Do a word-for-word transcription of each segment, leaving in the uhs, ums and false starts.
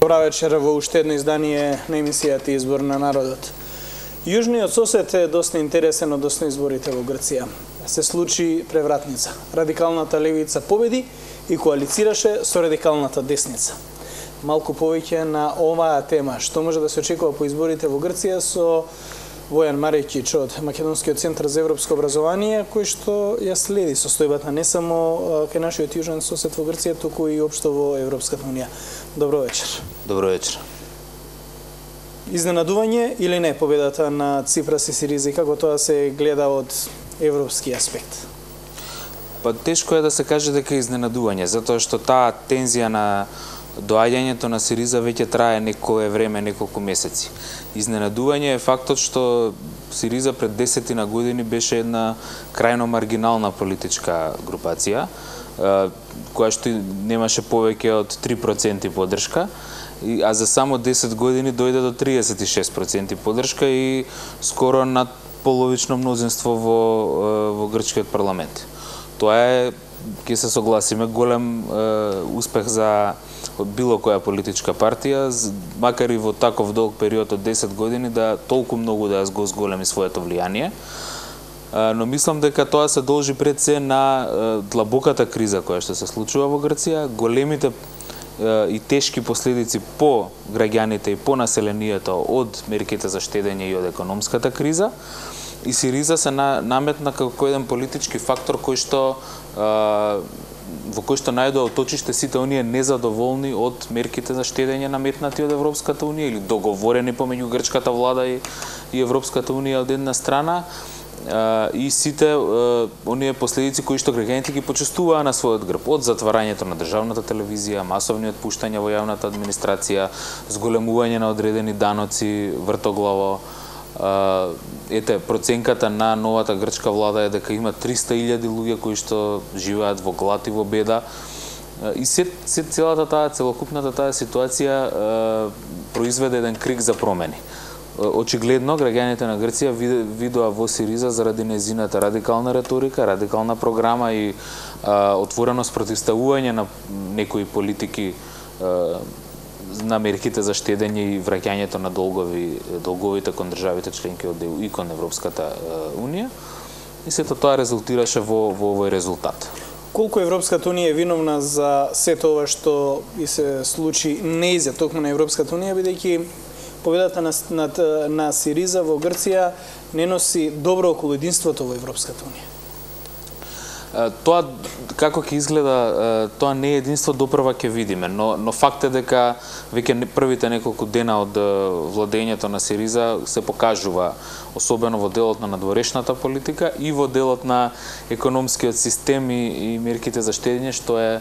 Добра вечер во уште едно издание на емисијата Избор на народот. Јужниот сосед е доста интересен односно изборите во Грција. Се случи превратница. Радикалната левица победи и коалицираше со радикалната десница. Малку повеќе на оваа тема, што може да се очекува по изборите во Грција со Војан Марекич од Македонскиот центар за европско образование, кој што ја следи состојбата не само кај нашиот јужен сосед во Грција, туку и општо во Европската унија. Добро вечер. Добро вечер. Изненадување или не победата на Ципрас и Сириза, како тоа се гледа од европски аспект? Па тешко е да се каже дека е изненадување, затоа што таа тензија на доаѓањето на Сириза веќе трае некое време, неколку месеци. Изненадување е фактот што Сириза пред десетина години беше една крајно маргинална политичка групација, која што немаше повеќе од три проценти поддршка, а за само десет години дојде до триесет и шест проценти поддршка и скоро над половично мнозинство во, во грчкиот парламент. Тоа е, ќе се согласиме, голем е, успех за било која политичка партија, макар и во таков долг период од десет години, да толку многу да го зголеми своето влијание. Но мислам дека тоа се должи пред се на длабоката криза која што се случува во Грција, големите и тешки последици по граѓаните и по населението од мерките за штедење и од економската криза. И Сириза се наметна како еден политички фактор кој што во кој што најдоа оточиште сите оние незадоволни од мерките за штедење наметнати од Европската унија или договорени помеѓу грчката влада и, и Европската унија од една страна, и сите оние последици кои што граѓаните ги почувствуваа на својот грб, од затварањето на државната телевизија, масовни отпуштања во јавната администрација, зголемување на одредени даноци вртоглаво. Ете, проценката на новата грчка влада е дека има триста илјади луѓе кои што живеат во глад и во беда. И се, се целата таа, целокупната таа ситуација произведе еден крик за промени. Очигледно, граѓаните на Грција видоа во Сириза заради незината радикална реторика, радикална програма и а, отвореност противставување на некои политики а, на мерките за штедење и враќањето на долгови, долговите кон државите членки од ЕУ и кон Европската унија. И сето тоа резултираше во, во овој резултат. Колку Европската унија е виновна за сето ова што и се случи неизја токму на Европската унија, бидејќи победата на, на, на Сириза во Грција не носи добро околу единството во Европската унија? Тоа како ќе изгледа, тоа не е единство, допрва ќе видиме, но, но факт е дека веќе првите неколку дена од владењето на Сириза се покажува, особено во делот на надворешната политика и во делот на економскиот систем и, и мерките за штедење, што е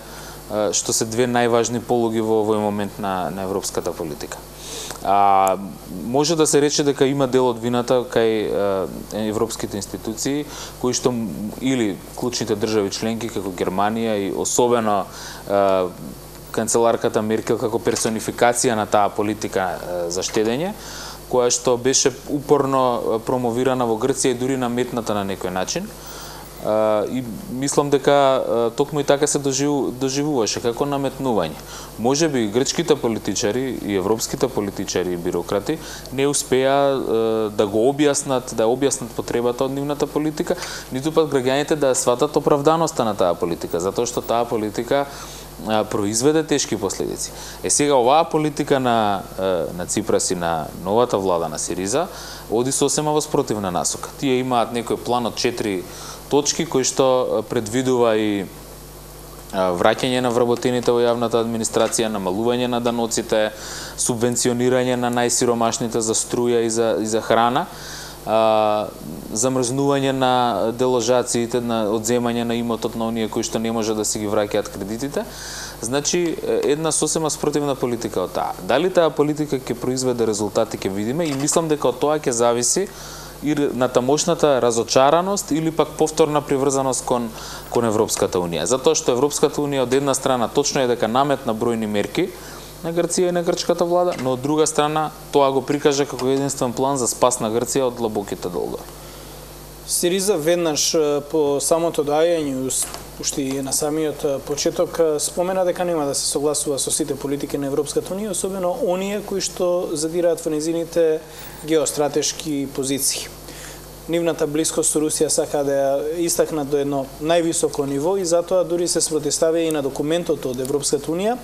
што се две најважни полуги во овој момент на, на европската политика. А, може да се рече дека има дел од вината кај а, европските институции, кои што или клучните држави членки како Германија и особено а, канцеларката Меркел како персонификација на таа политика а, за штедење, која што беше упорно промовирана во Грција и дури наметната на некој начин. Uh, и мислам дека uh, токму и така се доживу, доживуваше како наметнување. Може би грчките политичари и европските политичари и бюрократи не успеа uh, да го објаснат, да објаснат потребата од нивната политика, ниту пак граѓаните да сватат оправданоста на таа политика, затоа што таа политика uh, произведе тешки последици. Е сега оваа политика на uh, на Ципрас и на новата влада на Сириза оди сосема во спротивна насока. Тие имаат некој план од четири точки кои што предвидува и враќање на вработените во јавната администрација, намалување на даноците, субвенционирање на најсиромашните за струја и за, и за храна, а, замрзнување на деложациите, на одземање на имотот на оние кои што не може да си ги враќаат кредитите. Значи, една сосема спротивна политика од таа. Дали таа политика ќе произведе резултати, ќе видиме, и мислам дека од тоа ќе зависи и на тамошната разочараност или пак повторна приврзаност кон, кон Европската унија. Затоа што Европската унија од една страна точно е дека наметна бројни мерки на Грција и на грчката влада, но од друга страна тоа го прикажа како единствен план за спас на Грција од длабоките долгови. Сириза веднаш по самото доаѓање, уште и на самиот почеток, спомена дека нема да се согласува со сите политики на Европската унија, особено оние кои што задираат во незините геостратешки позиции. Нивната блискост со Русија сака да ја истакнат до едно највисоко ниво и затоа дури се спротивставија и на документот од Европската унија,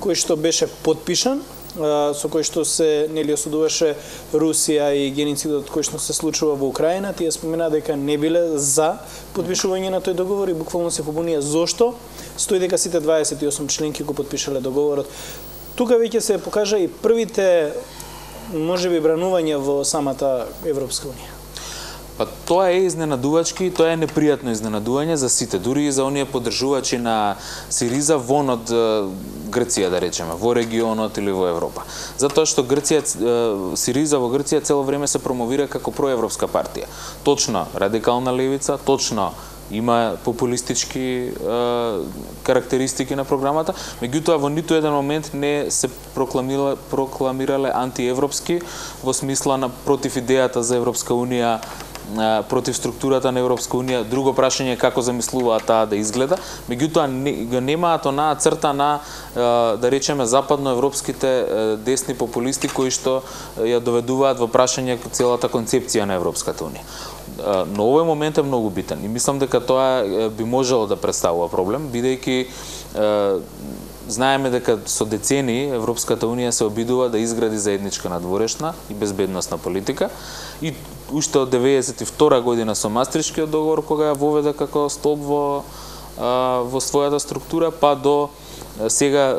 кој што беше подпишан, со кој што се нели осудуваше Русија и геноцидот кој што се случува во Украина. Тие спомена дека не биле за подпишување на тој договор и буквално се побунија зошто, стои дека сите дваесет и осум членки го подпишале договорот. Тука веќе се покажа и првите можеби бранувања во самата Европска унија. Па тоа е изненадувачки, тоа е непријатно изненадување за сите, дури и за оние поддржувачи на Сириза вон од Грција, да речеме, во регионот или во Европа. Затоа што Грција, Сириза во Грција цело време се промовира како проевропска партија. Точно радикална левица, точно има популистички е, карактеристики на програмата, меѓутоа во ниту еден момент не се прокламирале, прокламирале антиевропски во смисла на против идејата за Европска унија, против структурата на Европска унија. Друго прашање е како замислуваат таа да изгледа, меѓутоа не, го немаат онаа црта на, да речеме, западноевропските десни популисти кои што ја доведуваат во прашање целата концепција на Европската унија. Но овој момент е многу битен и мислам дека тоа би можело да представува проблем, бидејќи знаеме дека со децении Европската унија се обидува да изгради заедничка надворешна и безбедносна политика и уште од деветдесет и втора година со Мастрихтскиот договор, кога ја воведе како столб во, во својата структура, па до сега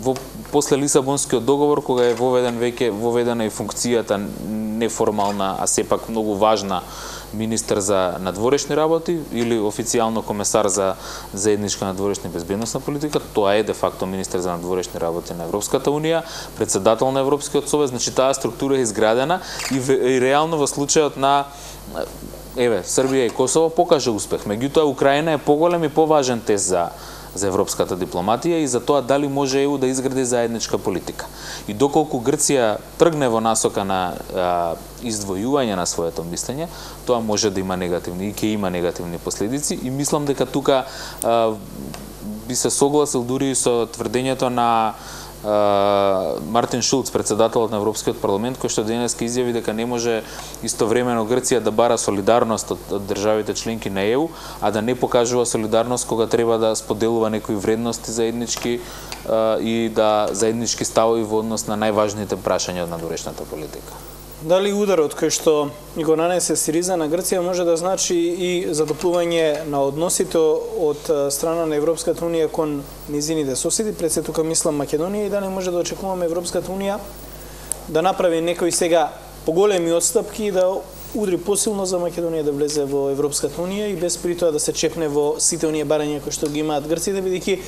во после Лисабонскиот договор, кога е воведен веќе воведена и функцијата неформална, а сепак многу важна министер за надворешни работи или официјално комесар за заедничка надворешна и безбедносна политика. Тоа е де факто министер за надворешни работи на Европската унија, председател на Европскиот совет, значи таа структура е изградена и, и реално во случајот на еве Србија и Косово покажа успех. Меѓутоа Украина е поголем и поважен тест за за европската дипломатија и за тоа дали може Е У да изгради заедничка политика. И доколку Грција тргне во насока на а, издвојување на своето мислење, тоа може да има негативни и ќе има негативни последици и мислам дека тука а, би се согласил дури со тврдењето на Мартин Шулц, председателот на Европскиот парламент, кој што денеска изјави дека не може истовремено Грција да бара солидарност од, од државите членки на Е У, а да не покажува солидарност кога треба да споделува некои вредности заеднички и да заеднички ставови во однос на најважните прашања од надворешната политика. Дали ударот кој што го нанесе Сириза на Грција може да значи и задоплување на односите од страна на Европската унија кон низините соседи, пред се тука мислам Македонија, и дали може да очекуваме Европската унија да направи некои сега поголеми отстапки и да удри посилно за Македонија да влезе во Европската унија и без при тоа да се чепне во сите оние барања кои што ги имаат грците, бидејќи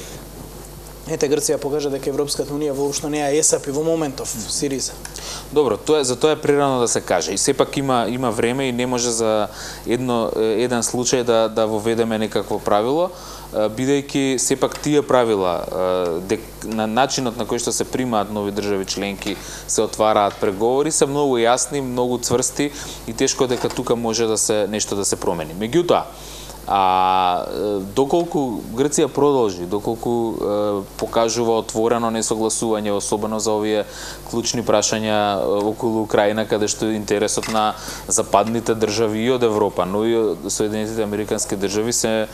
ете Грција покажа дека Европската унија воопшто не ја есапи во моментов Сириза. Добро, тоа за тоа е прерано да се каже. И сепак има има време и не може за едно еден случај да да воведеме некакво правило, бидејќи сепак тие правила, дек, на начинот на кој што се примаат нови држави членки, се отвараат преговори, се многу јасни, многу цврсти и тешко дека тука може да се нешто да се промени. Меѓутоа, а доколку Грција продолжи, доколку е, покажува отворено несогласување, особено за овие клучни прашања околу Украина, каде што интересот на западните држави и од Европа, но и од Соединетите американски држави се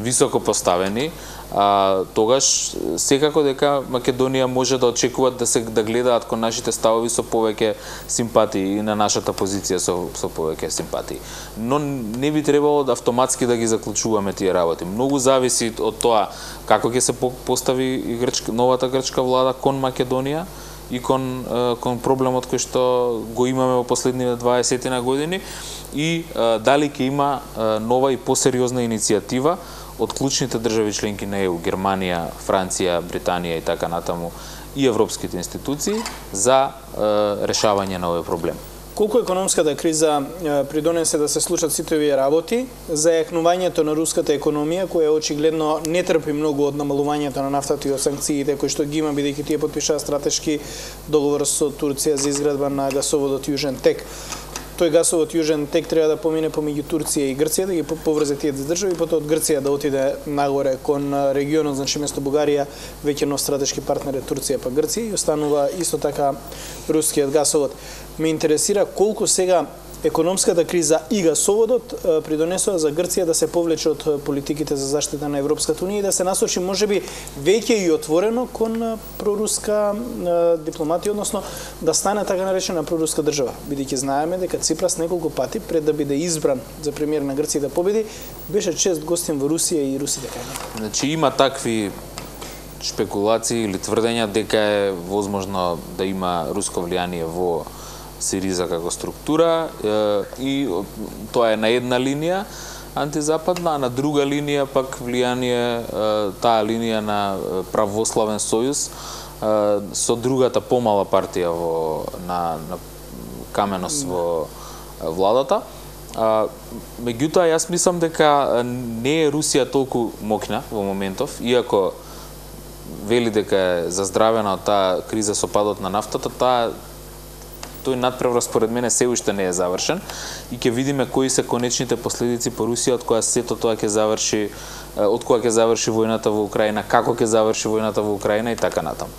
високо поставени, а, тогаш секако дека Македонија може да очекуваат да се да гледаат кон нашите ставови со повеќе симпатии и на нашата позиција со со повеќе симпатии. Но не би требало да автоматски да ги заклучуваме тие работи. Многу зависи од тоа како ќе се постави и грчка, новата грчка влада кон Македонија и кон кон проблемот кој што го имаме во последниве дваесет на години и дали ќе има нова и посериозна иницијатива од клучните држави членки на Е У, Германија, Франција, Британија и така натаму и европските институции за е, решавање на овој проблем. Колку економската криза е, придонесе да се случат сите овие работи за јакнувањето на руската економија, која очигледно не трпи многу од намалувањето на нафтата и од санкциите кои што ги има, бидејќи тие потпишаа стратешки договор со Турција за изградба на гасоводот Јужен Тек. тој гасовод Јужен тек треба да помине помеѓу Турција и Грција, да ги поврзе тие две држави, и потоа од Грција да отиде нагоре кон регионот, значи место Бугарија, веќе нов стратешки партнер е Турција па Грција, и останува исто така рускиот гасовод. Ме интересира колку сега економската криза и гасоводот придонесува за Грција да се повлече од политиките за заштита на Европската унија и да се насочи можеби веќе и отворено кон проруска дипломатија, односно да стане така наречена проруска држава, бидејќи знаеме дека Ципрас неколку пати пред да биде избран за премиер на Грција да победи, беше чест гостин во Русија и русите кај него. Значи има такви шпекулации или тврдења дека е возможно да има руско влијание во Сириза како структура, и тоа е на една линија антизападна, а на друга линија пак влијание таа линија на православен сојуз со другата помала партија во на, на Каменос во владата. Меѓутоа јас мислам дека не е Русија толку моќна во моментов, иако вели дека е заздравена од таа криза со падот на нафтата, таа тој надпреврат според мене се уште не е завршен и ќе видиме кои се конечните последици по Русија, од која сето тоа ќе заврши, од која ќе заврши војната во Украина, како ќе заврши војната во Украина и така натаму.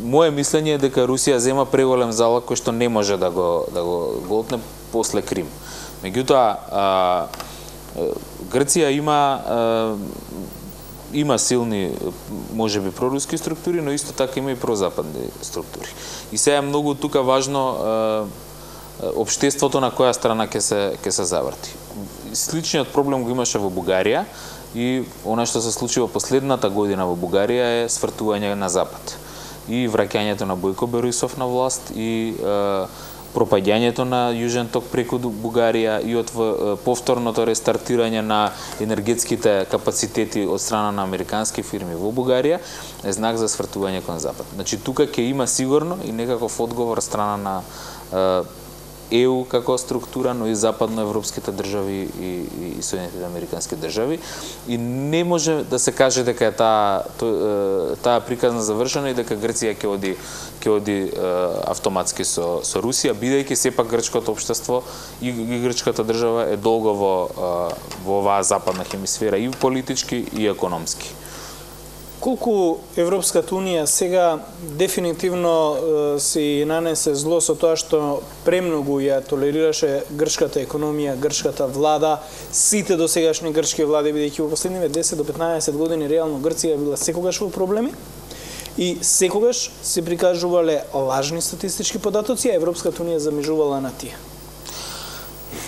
Моje мислење е дека Русија зема преголем залог кој што не може да го да го голтне после Крим. Меѓутоа, Грција има има силни, можеби проруски структури, но исто така има и прозападни структури. И сега е многу тука важно е, општеството на која страна ќе се ќе се заврти. Сличниот проблем го имаше во Бугарија и она што се случи во последната година во Бугарија е свртување на запад и враќањето на Бојко Борисов на власт и е, пропаѓањето на Јужен ток преку Бугарија и од повторното рестартирање на енергетските капацитети од страна на американски фирми во Бугарија е знак за свртување кон запад. Значи тука ќе има сигурно и некаков одговор страна на Е У како структура, но и западноевропските држави и, и Соединетите американски држави. И не може да се каже дека е таа таа приказна завршена и дека Грција ќе оди ќе оди е, автоматски со со Русија, бидејќи сепак грчкото општество и, и грчката држава е долго во во оваа западна хемисфера и политички и економски. Колку Европската унија сега дефинитивно е, си нанесе зло со тоа што премногу ја толерираше грчката економија, грчката влада, сите досегашни грчки влади, бидејќи во последниве десет до петнаесет години реално Грција била секогаш во проблеми и секогаш се прикажувале лажни статистички податоци, а Европската унија замижувала на тие.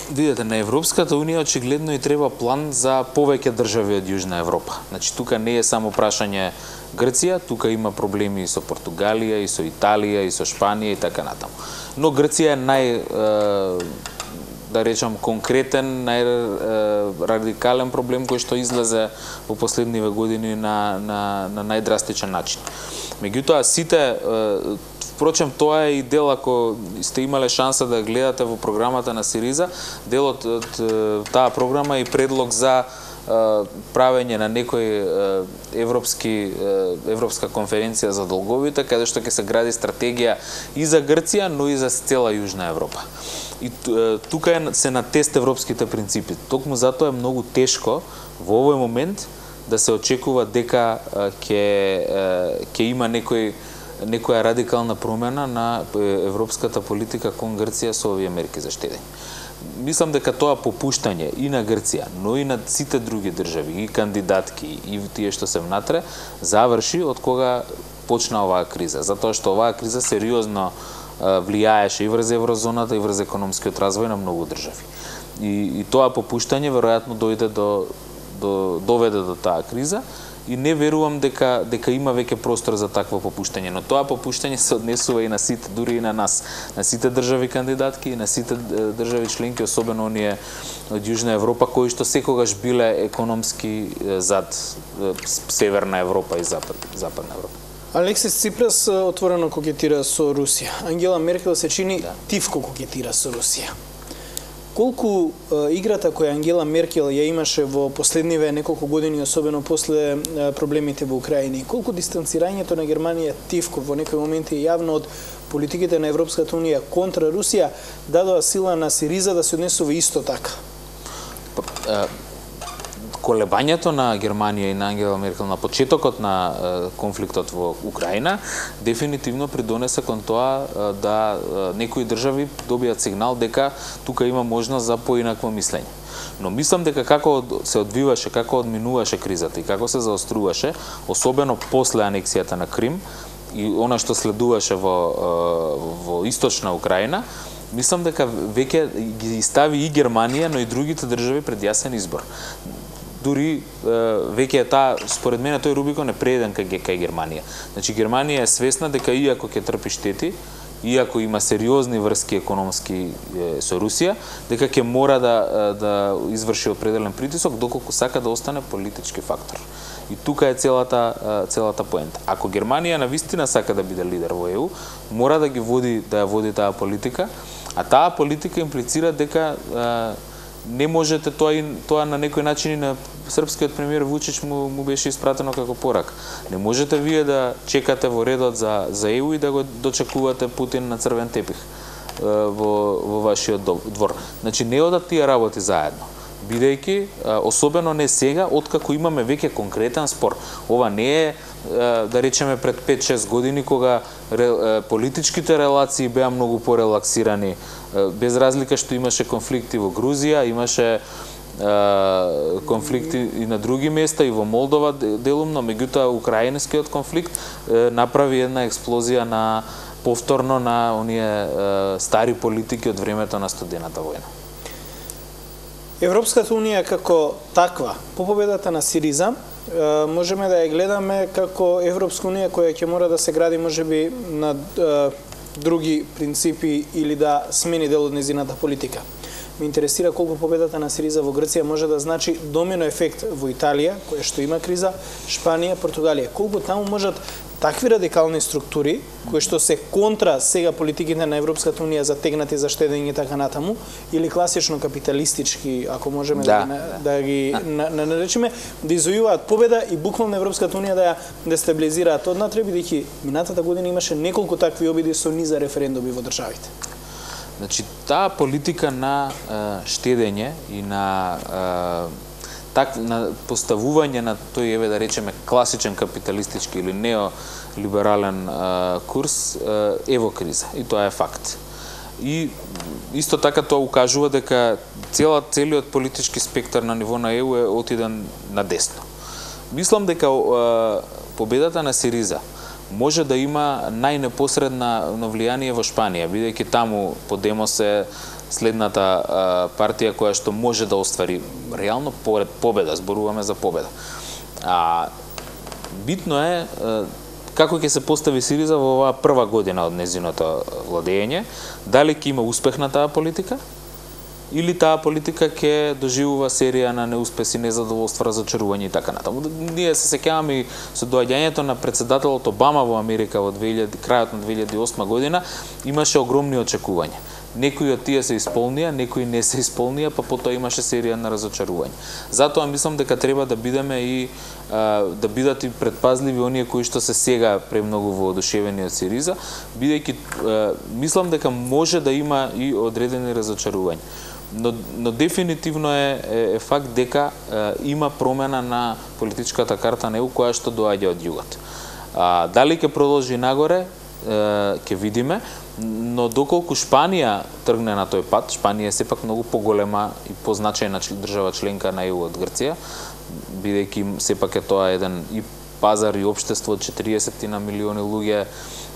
Видете, на Европската унија очигледно и треба план за повеќе држави од Јужна Европа. Значи тука не е само прашање Грција, тука има проблеми и со Португалија, и со Италија, и со Шпанија и така натаму. Но Грција е нај да речам конкретен, најрадикален проблем кој што излезе во последниве години на на на најдрастичен начин. Меѓутоа сите впрочем, тоа е и дел, ако сте имале шанса да гледате во програмата на Сириза, делот од таа програма е предлог за правење на некој европски европска конференција за долговите, каде што ќе се гради стратегија и за Грција, но и за цела Јужна Европа. И тука е се на тест европските принципи. Токму затоа е многу тешко во овој момент да се очекува дека ќе ќе има некој некоја радикална промена на европската политика кон Грција со овие мерки за штедење. Мислам дека тоа попуштање и на Грција, но и на сите други држави, и кандидатки, и тие што се внатре, заврши од кога почна оваа криза. Затоа што оваа криза сериозно влијаеше и врз еврозоната и врз економскиот развој на многу држави. И, и тоа попуштање веројатно дојде до, до доведе до таа криза. И не верувам дека дека има веќе простор за такво попуштање, но тоа попуштање се однесува и на сите, дури и на нас, на сите држави кандидатки и на сите држави членки, особено оние од Јужна Европа кои што секогаш биле економски зад Северна Европа и Запад, Западна Европа. Алексис Ципрас отворено кокетира со Русија. Ангела Меркел се чини да. тивко кокетира со Русија. колку е, играта која Ангела Меркел ја имаше во последниве неколку години, особено после е, проблемите во Украина, колку дистанцирањето на Германија тивко во некои моменти јавно од политиките на Европската унија контра Русија дадоа сила на Сириза да се однесува исто така? Колебањето на Германија и на Ангела Меркел на почетокот на е, конфликтот во Украина дефинитивно придонесе кон тоа е, да е, некои држави добијат сигнал дека тука има можност за поинакво мислење. Но мислам дека како се одвиваше, како одминуваше кризата и како се заоструваше, особено после анексијата на Крим и она што следуваше во, во источна Украина, мислам дека веќе ги стави и Германија, но и другите држави пред јасен избор. Дури веќе е таа, според мене, тој Рубикон е прееден кај, кај Германија. Значи, Германија е свесна дека иако ќе трпи штети, иако има сериозни врски економски со Русија, дека ќе мора да, да изврши определен притисок, доколку сака да остане политички фактор. И тука е целата целата поента. Ако Германија навистина сака да биде лидер во Е У, мора да ги води да ја води таа политика, а таа политика имплицира дека а, не можете тоа и тоа на некој начин и на српскиот премиер Вучич му, му беше испратено како порака. Не можете вие да чекате во редот за за Е У и да го дочекувате Путин на црвен тепих во во вашиот двор. Значи не одат тие работи заедно. Бидејќи, особено не сега, откако имаме веќе конкретен спор. Ова не е, да речеме, пред пет-шест години, кога политичките релации беа многу порелаксирани, без разлика што имаше конфликти во Грузија, имаше конфликти и на други места, и во Молдова делумно, меѓутоа украинскиот конфликт направи една експлозија на повторно на оние стари политики од времето на студената војна. Европската унија како таква, по победата на Сириза, можеме да ја гледаме како Европска унија која ќе мора да се гради можеби на други принципи или да смени дел од незината политика. Ме интересира колку победата на Сириза во Грција може да значи домино ефект во Италија, која што има криза, Шпанија, Португалија. Колку таму можат такви радикални структури, кои што се контра сега политиките на Европската унија затегнати за штедење така натаму, или класично капиталистички, ако можеме да, да, да ги да. На, наречеме, да извојуваат победа и буквално Европската унија да ја дестабилизираат однатре, бидејќи минатата година имаше неколку такви обиди со низа референдуми во државите. Значи, таа политика на е, штедење и на е, так на поставување на тој, еве да речеме, класичен капиталистички или неолиберален е, курс е, е во криза, и тоа е факт. И исто така тоа укажува дека цела целиот политички спектар на ниво на Е У е отиден на десно. Мислам дека е, победата на Сириза може да има најнепосредна влијание во Шпанија, бидејќи таму Подемос е следната а, партија која што може да оствари реално победа, зборуваме за победа. А битно е а, како ќе се постави Сириза во оваа прва година од незиното владење, дали ќе има успех на таа политика, или таа политика ќе доживува серија на неуспеси, незадоволства, разочарување и така натаму. Ние се сеќаваме и со доаѓањето на председателот Обама во Америка во две илјади, крајот на две илјади и осма година, имаше огромни очекувања. Некои од тие се исполнија, некои не се исполнија, па потоа имаше серија на разочарување. Затоа мислам дека треба да бидеме и а, да бидат и предпазливи оние кои што се сега премногу воодушевени од Сириза, бидејќи мислам дека може да има и одредени разочарувања. Но, но дефинитивно е, е, е факт дека е, има промена на политичката карта на Е У која што доаѓа од југот. А, дали ќе продолжи нагоре, ќе видиме, но доколку Шпанија тргне на тој пат, Шпанија е сепак многу поголема и позначајна држава членка на Е У од Грција, бидејќи сепак е тоа еден и пазар и општество од четириесет на милиони луѓе,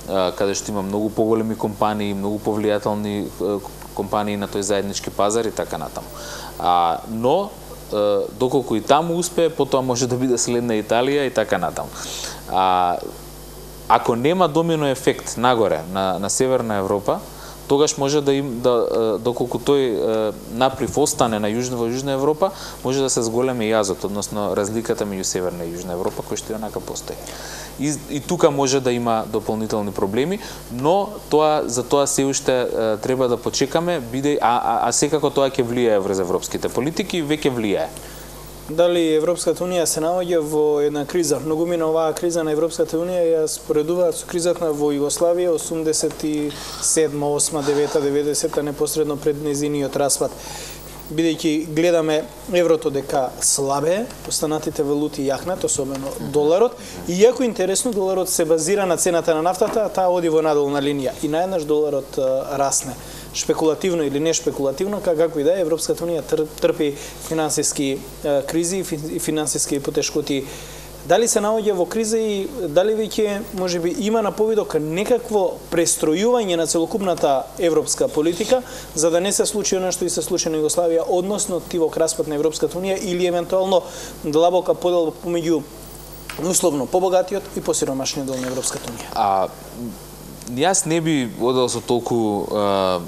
каде што има многу поголеми компании, многу повлијателни компании на тој заеднички пазар и така натаму. А, но, доколку и таму успее, потоа може да биде следна Италија и така натаму. А, ако нема домино ефект нагоре на, на Северна Европа, тогаш може да им да доколку тој наплив остане на јужна во Јужна Европа, може да се зголеми јазот, односно разликата меѓу Северна и Јужна Европа, кој што онака постои. И, и тука може да има дополнителни проблеми, но тоа за тоа се уште треба да почекаме, биде а, а, а секако тоа ќе влијае врз европските политики, веќе влијае. Дали Европската унија се наоѓа во една криза? Многумина оваа криза на Европската унија ја споредуваат со кризата во Југославија осумдесет и седма, осма, девета, деветдесета непосредно пред нејзиниот распад. Бидејќи гледаме еврото дека слабе, останатите валути јахнат, особено доларот, и иако интересно доларот се базира на цената на нафтата, таа оди во надолна линија и наеднаш доларот расне. Шпекулативно или не шпекулативно, како и да е, Европската унија трпи финансиски кризи и финансиски потешкоти. Дали се наоѓа во криза и дали веќе можеби има на повидок некакво престројување на целокупната европска политика, за да не се случи она што и се случи на Југославија, односно тивок распад на Европската унија или евентуално длабока поделба помеѓу условно побогатиот и посиромашниот дел на Европската унија? А јас не би одел со толку а,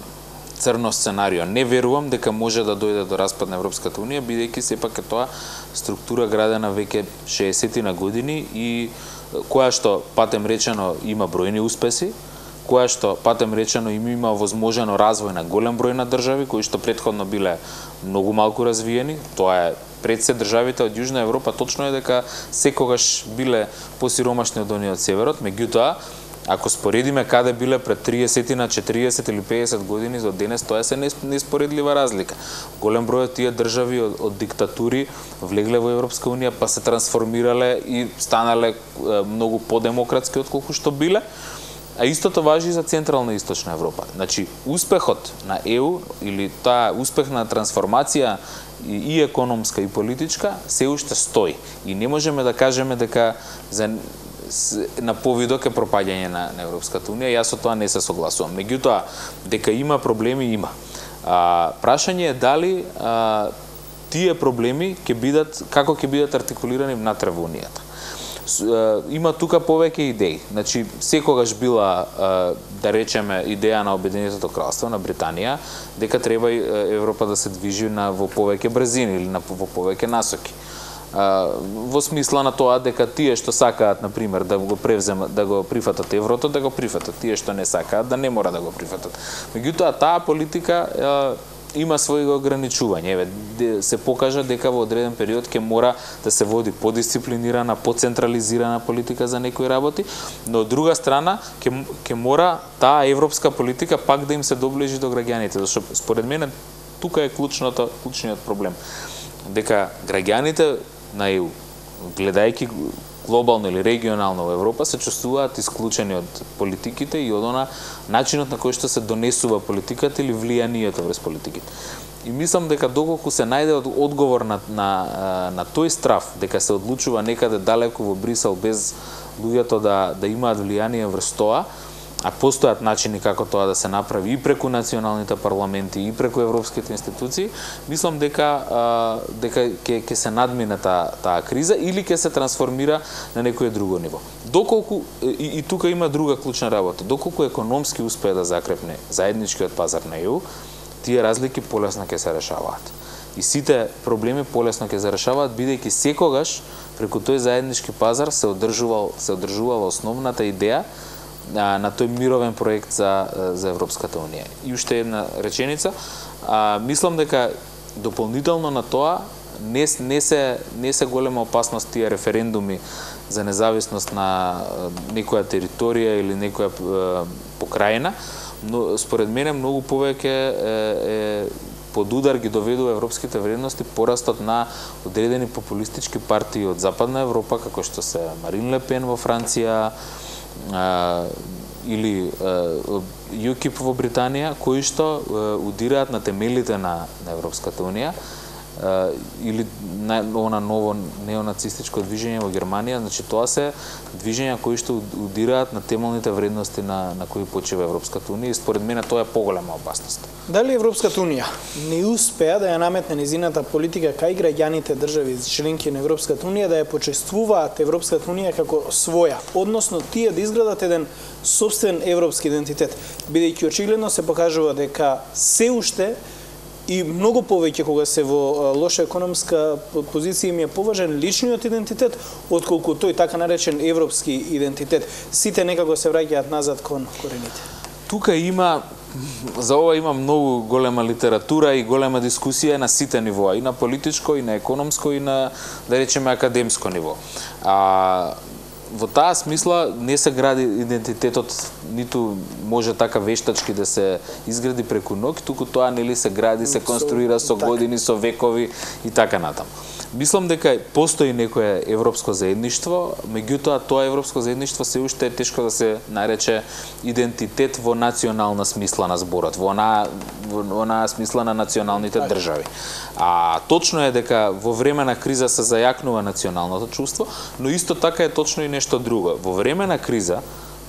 црно сценарио. Не верувам дека може да дојде до распад на Европската унија, бидејќи сепак е тоа структура градена веќе шеесет на години и која што, патем речено, има бројни успеси, која што, патем речено, им има возможено развој на голем број на држави, кои што претходно биле многу малку развиени. Тоа е пред се државите од Јужна Европа, точно е дека секогаш биле посиромашни од оние од северот, меѓутоа, ако споредиме каде биле пред триесет на четириесет или пеесет години до денес, тоа се неспоредлива разлика. Голем број од тие држави од, од диктатури влегле во Европска унија, па се трансформирале и станале е, многу подемократски отколку што биле. А истото важи и за Централна и Источна Европа. Значи, успехот на Е У или таа успехна трансформација и, и економска и политичка се уште стои. И не можеме да кажеме дека за на повидок е пропаѓање на, на Европската унија, јас со тоа не се согласувам. Меѓутоа, дека има проблеми, има. А, прашање е дали а, тие проблеми ќе бидат, како ќе бидат артикулирани внатре во унијата. Има тука повеќе идеи. Значи, секогаш била, да речеме, идеја на Обединетото кралство, на Британија, дека треба Европа да се движи на, во повеќе брзини или на, во повеќе насоки. Во смисла на тоа дека тие што сакаат, на пример, да го превземат, да го прифатат еврото, да го прифатат, тие што не сакаат, да не мора да го прифатат. Меѓутоа, таа политика е, има своји ограничувања. Еве, се покажа дека во одреден период ќе мора да се води подисциплинирана, поцентрализирана политика за некои работи, но од друга страна ќе ќе мора таа европска политика пак да им се доближи до граѓаните, зашто според мене тука е клучното клучниот проблем. Дека граѓаните на Е У, гледајќи глобално или регионално во Европа, се чувствуваат исклучени од политиките и од она начинот на кој што се донесува политиката или влијанието врз политиките. И мислам дека доколку се најде одговор на, на, на тој страв, дека се одлучува некаде далеко во Брисел без луѓето да, да имаат влијание врз тоа, а постојат начини како тоа да се направи и преку националните парламенти и преку европските институции, мислам дека а, дека ќе ќе се надмине таа таа криза или ќе се трансформира на некое друго ниво. Доколку и, и тука има друга клучна работа, доколку економски успее да закрепне заедничкиот пазар на Е У, тие разлики полесно ќе се решаваат. И сите проблеми полесно ќе се решаваат, бидејќи секогаш преку тој заеднички пазар се одржувал се одржувала основната идеја на, на тој мировен проект за, за Европската унија. И уште една реченица, а, мислам дека дополнително на тоа не, не, се, не се голема опасност тие референдуми за независност на некоја територија или некоја е, покрајна, но според мене многу повеќе е, е под удар ги доведува европските вредности порастот на одредени популистички партии од Западна Европа, како што се Марин Ле Пен во Франција, а, или ЮКИП во Британија, кои што а, удираат на темелите на, на Европската унија или на, она ново неонацистичко движење во Германија, значи тоа се движења кои што удираат на темелните вредности на на кои почива Европската унија и според мене тоа е поголема опасност. Дали Европската унија не успеа да ја наметне незината политика кај граѓаните држави членки на Европската унија да ја почествуваат Европската унија како своја, односно тие да изградат еден сопствен европски идентитет, бидејќи очигледно се покажува дека се уште и многу повеќе кога се во лоша економска позиција им е поважен личниот идентитет отколку тој така наречен европски идентитет. Сите некако се враќаат назад кон корените. Тука има за ова има многу голема литература и голема дискусија на сите нивоа, и на политичко, и на економско, и на, да речеме, академско ниво. А во таа смисла не се гради идентитетот, ниту може така вештачки да се изгради преку ноќ, туку тоа нели се гради, се конструира со години, со векови и така натаму. Мислам дека постои некое европско заедништво, меѓутоа тоа европско заедништво се уште е тешко да се нарече идентитет во национална смисла на зборот, во онаа во онаа смисла на националните држави. А точно е дека во време на криза се зајакнува националното чувство, но исто така е точно и нешто друго. Во време на криза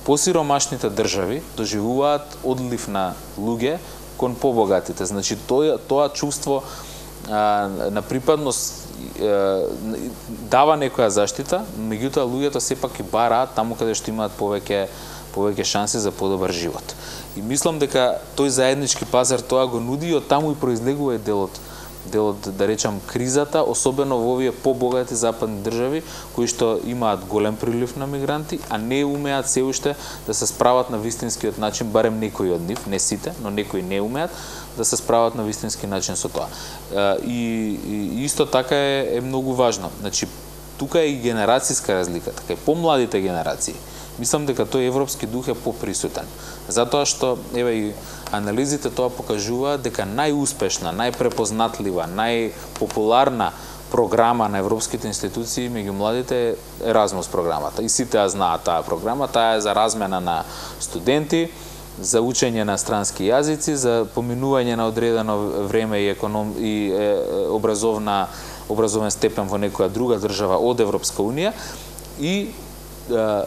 посиромашните држави доживуваат одлив на луѓе кон побогатите. Значи тоа тоа чувство а, на припадност дава некоја заштита, меѓутоа луѓето сепак и бараат таму каде што имаат повеќе повеќе шанси за подобар живот. И мислам дека тој заеднички пазар тоа го нуди и од таму и произлегува и делот делот да речам кризата, особено во овие побогати западни држави кои што имаат голем прилив на мигранти, а не умеат се уште да се справат на вистинскиот начин, барем некои од нив, не сите, но некои не умеат да се справат на вистински начин со тоа. И, и исто така е, е многу важно. Значи, тука е и генерацијска разлика, така и помладите генерации. Мислам дека тој европски дух е поприсутен. Затоа што, еве и анализите тоа покажуваат дека најуспешна, најпрепознатлива, најпопуларна програма на европските институции меѓу младите е Еразмус програмата. И сите ја знаат таа програма, таа е за размена на студенти, за учење на странски јазици, за поминување на одредено време и економ и е, образовна образовен степен во некоја друга држава од Европска унија и е,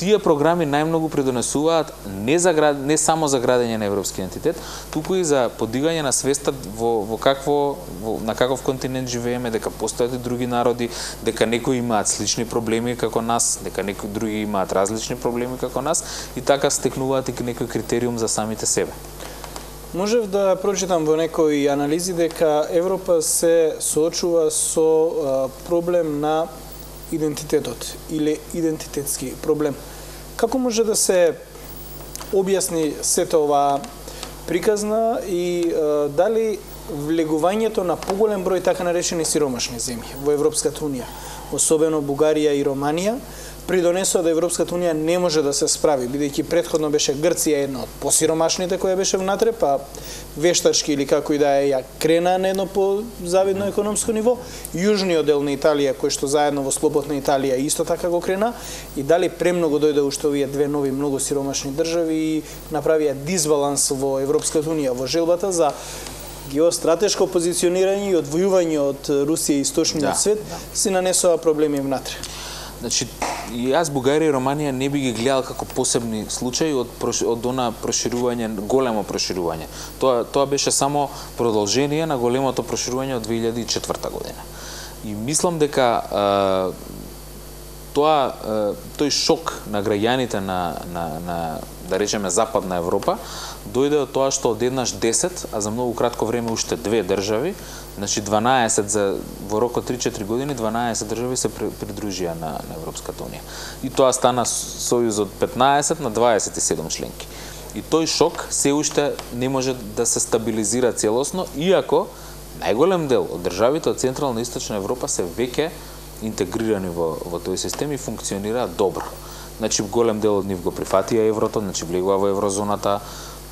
тие програми најмногу придонесуваат не за град, не само за градење на европски идентитет, туку и за подигање на свеста во во какво во, на каков континент живееме, дека постојат и други народи, дека некои имаат слични проблеми како нас, дека некои други имаат различни проблеми како нас и така стекнуваат и некој критериум за самите себе. Можев да прочитам во некои анализи дека Европа се соочува со а, проблем на идентитетот или идентитетски проблем. Како може да се објасни сето ова приказна и е, дали влегувањето на поголем број така наречени сиромашни земји во Европската унија, особено Бугарија и Романија, придонесува да Европската унија не може да се справи, бидејќи претходно беше Грција една од посиромашните која беше внатре, па вештачки или како и да е ја крена на едно позавидно економско ниво, јужниот дел на Италија кој што заедно во слободна Италија исто така го крена и дали премногу дојде уште овие две нови многу сиромашни држави и направија дисбаланс во Европската унија во желбата за геостратешко позиционирање и одвојување од Русија и источниот да, свет да. Се нанесува проблеми внатре. Значи, и јас Бугарија и Романија не би ги гледал како посебни случаи од од она проширување, големо проширување. Тоа тоа беше само продолжение на големото проширување од две илјади и четврта година. И мислам дека е, тоа е, тој шок на граѓаните на на на да речеме западна Европа дојде од тоа што одеднаш десет, а за многу кратко време уште две држави, значи дванаесет за во рок од три-четири години дванаесет држави се придружија на, на Европската унија. И тоа стана сојуз од петнаесет на дваесет и седум членки. И тој шок се уште не може да се стабилизира целосно, иако најголем дел од државите од Централна и Источна Европа се веќе интегрирани во во тој систем и функционираат добро. Значи голем дел од нив го прифатија еврото, значи влегува во еврозоната.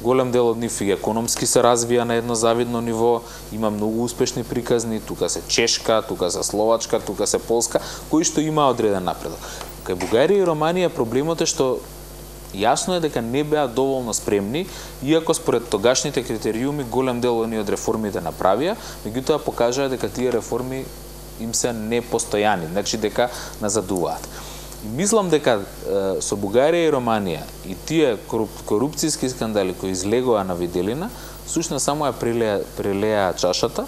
Голем дел од нив и економски се развија на едно завидно ниво, има многу успешни приказни, тука се Чешка, тука се Словачка, тука се Полска, кои што има одреден напредок. Кај Бугарија и Романија проблемот е што Јасно е дека не беа доволно спремни, иако според тогашните критериуми голем дел од реформите направија, меѓутоа покажаа дека тие реформи им се непостојани, значи дека назадуваат. И мислам дека е, со Бугарија и Романија и тие коруп, корупцијски скандали кои излегоа на виделина, сушно само ја прелеа, прелеа чашата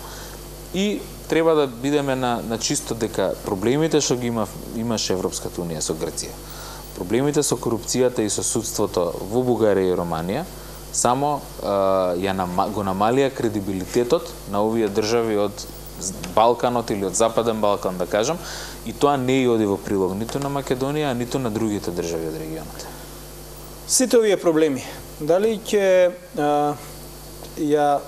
и треба да бидеме на, на чисто дека проблемите што ги има, имаше Европската унија со Грција, проблемите со корупцијата и со судството во Бугарија и Романија само е, ја нама, го намалија кредибилитетот на овие држави од Балканот или од Западен Балкан, да кажам, и тоа не оди во прилог ниту на Македонија, ниту на другите држави од регионот. Сите овие проблеми, дали ќе ја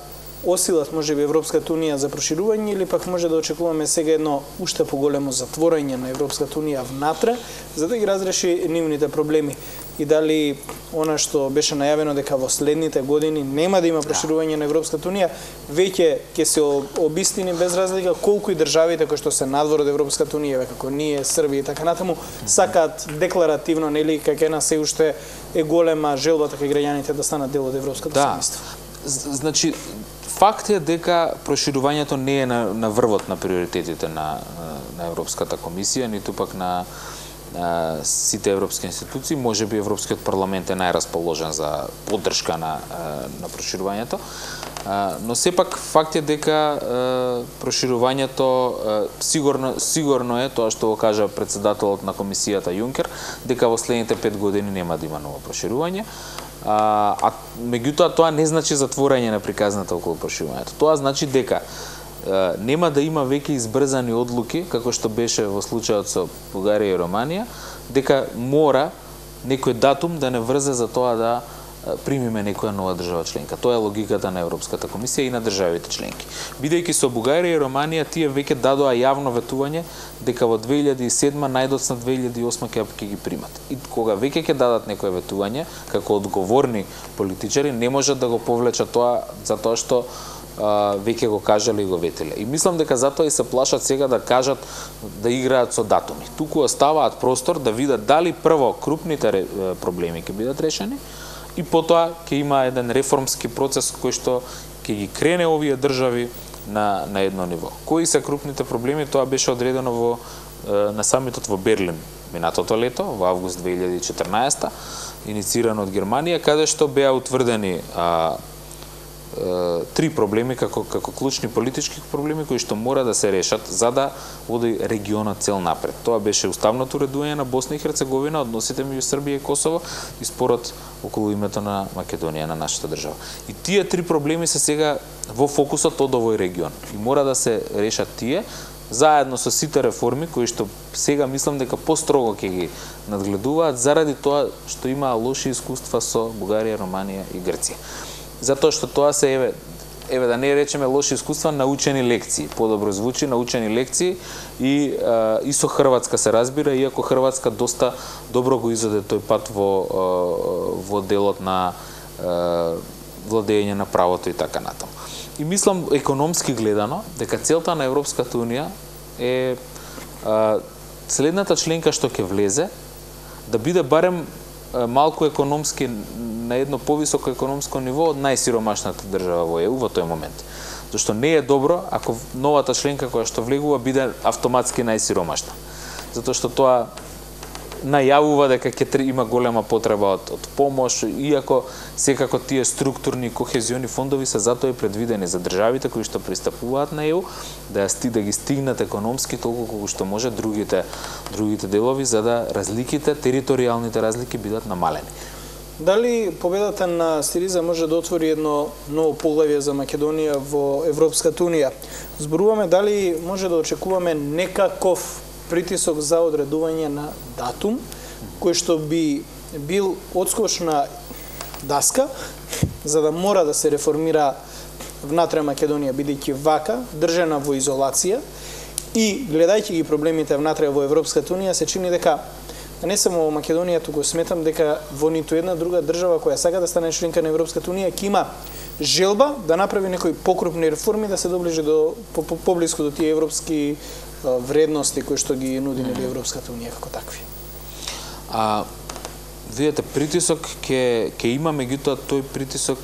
осилат можеби Европската унија за проширување или пак може да очекуваме сега едно уште поголемо затворање на Европската унија внатре за да ги разреши нивните проблеми и дали она што беше најавено дека во следните години нема да има проширување на Европската унија веќе ќе се обистини без разлика колку и државите кои што се надвор од Европската унија како ние Србија и така натаму сакаат декларативно нели како една се уште е голема желбата кај граѓаните да станат дел од Европското да. семејство. Значи факт е дека проширувањето не е на, на врвот на приоритетите на, на Европската комисија, ниту пак на, на сите европски институции. Може би Европскиот парламент е најрасположен за поддршка на, на проширувањето, но сепак факт е дека проширувањето сигурно, сигурно е тоа што го кажа председателот на комисијата Јункер, дека во следните пет години нема да има ново проширување. А, а меѓутоа тоа не значи затворање на приказната околу проширувањето. Тоа значи дека е, нема да има веќе избрзани одлуки, како што беше во случајот со Бугарија и Романија, дека мора некој датум да не врзе за тоа да примиме некоја нова држава членка. Тоа е логиката на Европската комисија и на државите членки. Бидејќи со Бугарија и Романија тие веќе дадоа јавно ветување дека во две илјади и седма најдоцна две илјади и осма ќе ги примат. И кога веќе ќе дадат некое ветување, како одговорни политичари, не можат да го повлечат тоа затоа што а, веќе го кажале и го ветеле. И мислам дека затоа и се плашат сега да кажат, да играат со датуми. Туку оставаат простор да видат дали прво крупните проблеми ќе бидат решени, и потоа ќе има еден реформски процес кој што ќе ги крене овие држави на, на едно ниво. Кои се крупните проблеми, тоа беше одредено во, на самитот во Берлин минатото лето, во август две илјади и четрнаесета, инициирано од Германија, каде што беа утврдени а, три проблеми како како клучни политички проблеми кои што мора да се решат за да оди регионот цел напред. Тоа беше уставното уредување на Босна и Херцеговина, односите меѓу Србија и Косово и спорот околу името на Македонија, на нашата држава. И тие три проблеми се сега во фокусот од овој регион. И мора да се решат тие заедно со сите реформи кои што сега мислам дека построго ќе ги надгледуваат заради тоа што има лоши искуства со Бугарија, Романија и Грција. Затоа што тоа се еве еве да не речеме лоши искуства, научени лекции. Подобро звучи, научени лекции и а, и со Хрватска се разбира, иако Хрватска доста добро го изоде тој пат во а, во делот на а, владење на правото и така натаму. И мислам економски гледано дека целта на Европската унија е а, следната членка што ќе влезе да биде барем малку економски на едно повисоко економско ниво од најсиромашната држава во Е У во тој момент. Зашто не е добро ако новата членка која што влегува биде автоматски најсиромашна. Затоа што тоа најавува дека ќе има голема потреба од, од помош, иако секако тие структурни кохезиони фондови се затоа и предвидени за државите кои што пристапуваат на Е У, да ја да ги стигнат економски толку колку што може другите другите делови за да разликите, територијалните разлики бидат намалени. Дали победата на Сириза може да отвори едно ново поглавје за Македонија во Европската унија? Зборуваме дали може да очекуваме некаков притисок за одредување на датум, кој што би бил одскочна даска, за да мора да се реформира внатре Македонија, бидејќи вака, држана во изолација и гледајќи ги проблемите внатре во Европската унија, се чини дека не само во Македонија, туку сметам дека во ниту една друга држава која сака да стане членка на Европската унија ќе има желба да направи некои покрупни реформи, да се доближи до поблиску по, по до тие европски вредности кои што ги нуди mm. Европската унија како такви. А видете, притисок ќе ќе има, меѓутоа тој притисок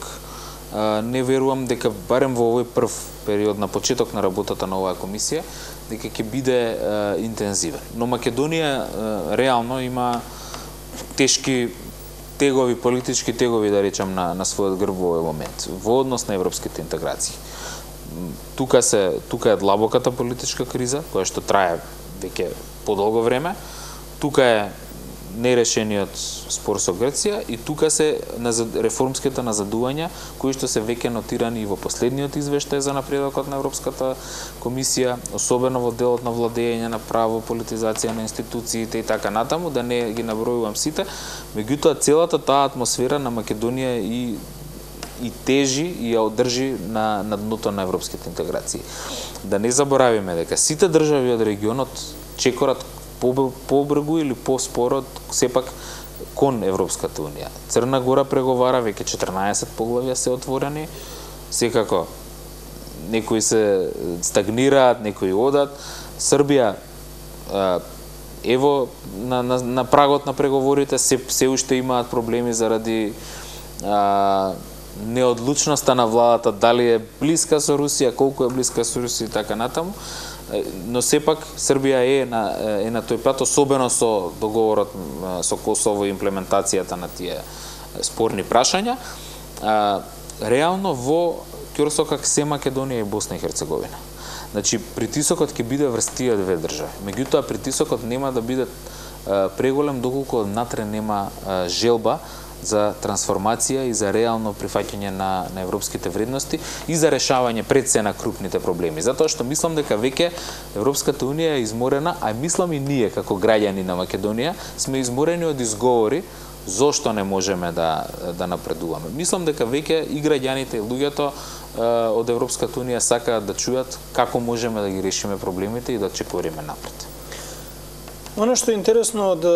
а, не верувам дека барем во овој прв период на почеток на работата на оваа комисија дека ќе биде а, интензивен. Но Македонија а, реално има тешки тегови, политички тегови, да речам, на, на својот грб во овој момент, во однос на европските интеграции. Тука се тука е длабоката политичка криза, која што трае веќе подолго време. Тука е нерешениот спор со Грција и тука се реформските назадувања кои што се веќе нотирани и во последниот извештај за напредокот на Европската комисија, особено во делот на владење на право, политизација на институциите и така натаму, да не ги набројувам сите, меѓутоа целата таа атмосфера на Македонија и и тежи и ја одржи на, на дното на европските интеграции. Да не заборавиме дека сите држави од регионот чекорат побргу или поспорот сепак кон Европската унија. Црна Гора преговара, веќе четрнаесет поглавја се отворени, секако некои се стагнираат, некои одат. Србија ево на, на, на прагот на преговорите се, се уште имаат проблеми заради а, неодлучноста на владата, дали е блиска со Русија, колку е блиска со Русија и така натаму, но сепак Србија е на е на тој пат, особено со договорот со Косово и имплементацијата на тие спорни прашања. А, реално во ќорсокак се Македонија и Босна и Херцеговина. Значи притисокот ќе биде врз тие две држави. Меѓутоа притисокот нема да биде а, преголем доколку внатре нема а, желба за трансформација и за реално прифаќање на, на европските вредности и за решавање пред се на крупните проблеми. Затоа што мислам дека веќе Европската унија е изморена, а мислам и ние како граѓани на Македонија сме изморени од изговори зошто не можеме да да напредуваме. Мислам дека веќе и граѓаните и луѓето од Европската унија сакаат да чујат како можеме да ги решиме проблемите и да чекориме напред. Оно што е интересно од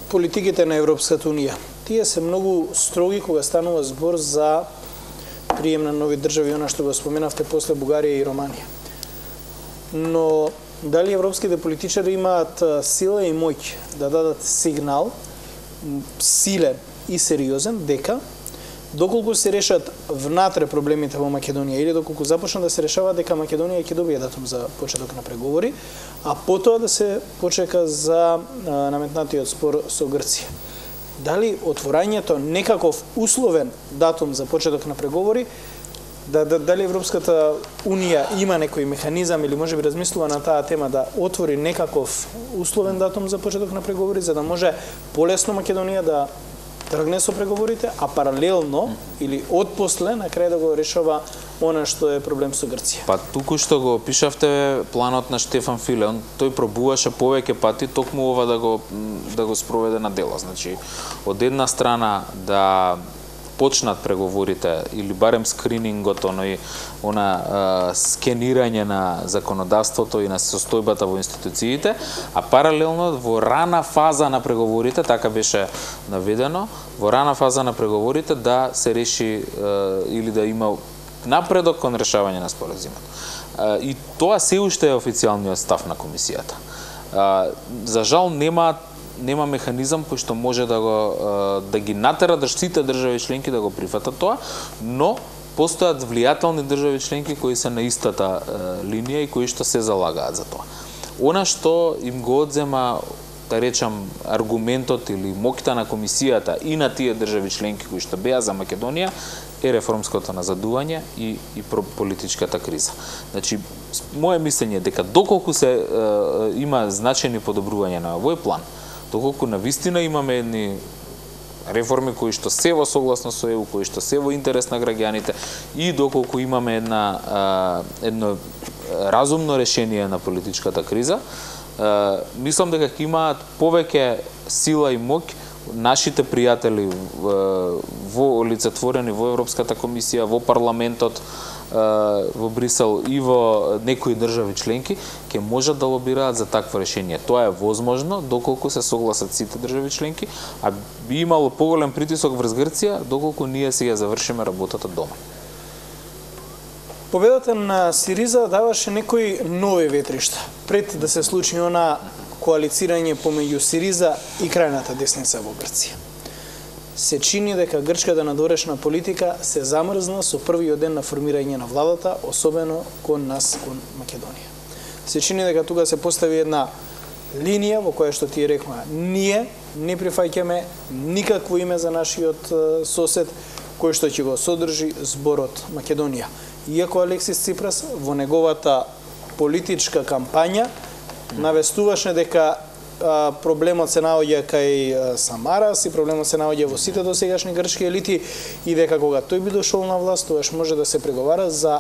политиките на Европската унија. Тие се многу строги кога станува збор за прием на нови држави, она што го споменавте после Бугарија и Романија. Но дали европските политичари имаат сила и моќ да дадат сигнал, силен и сериозен, дека доколку се решат внатре проблемите во Македонија или доколку започнат да се решаваат, дека Македонија ќе добие датум за почеток на преговори, а потоа да се почека за наметнатиот спор со Грција. Дали отворањето некаков условен датум за почеток на преговори, да, да, дали Европската унија има некој механизам или можеби размислува на таа тема да отвори некаков условен датум за почеток на преговори, за да може полесно Македонија да тргне со преговорите, а паралелно или отпосле на крај да го решава она што е проблем со Грција. Па туку што го опишавте планот на Штефан Филе, он тој пробуваше повеќе пати токму ова да го да го спроведе на дело. Значи, од една страна да почнат преговорите или барем скринингот, оној она а, скенирање на законодавството и на состојбата во институциите, а паралелно во рана фаза на преговорите, така беше наведено, во рана фаза на преговорите да се реши а, или да има напредок кон решавање на споразумот. И тоа се уште е официјалниот став на комисијата. А, за жал нема нема механизам кој што може да го да ги натера да сите држави членки да го прифатат тоа, но постојат влијателни држави членки кои се на истата линија и кои што се залагаат за тоа. Она што им го одзема, да речам, аргументот или моќта на комисијата и на тие држави членки кои што беа за Македонија е реформското назадување и и политичката криза. Значи, мое мислење е дека доколку се е, има значајни подобрувања на овој план, доколку навистина имаме едни реформи кои што се во согласно со Е У, кои што се во интерес на граѓаните и доколку имаме една а, едно разумно решение на политичката криза, а, мислам дека ќе имаат повеќе сила и моќ нашите пријатели во олицетворени во Европската комисија, во парламентот, во Брисел и во некои држави членки ќе можат да лобираат за такво решение. Тоа е возможно доколку се согласат сите држави членки, а би имало поголем притисок врз Грција доколку ние сега завршиме работата дома. Победата на Сириза даваше некои нови ветришта. Пред да се случи она коалицирање помеѓу Сириза и крајната десница во Грција. Се чини дека грчката надворешна политика се замрзна со првиот ден на формирање на владата, особено кон нас, кон Македонија. Се чини дека тука се постави една линија во која што ти рекма, ние не прифаќаме никакво име за нашиот сосед кој што ќе го содржи зборот Македонија. Иако Алексис Ципрас во неговата политичка кампања навестуваше дека а, проблемот се наоѓа кај Самарас и проблемот се наоѓа во сите досегашни грчки елити и дека кога тој би дошол на власт, тогаш може да се преговара за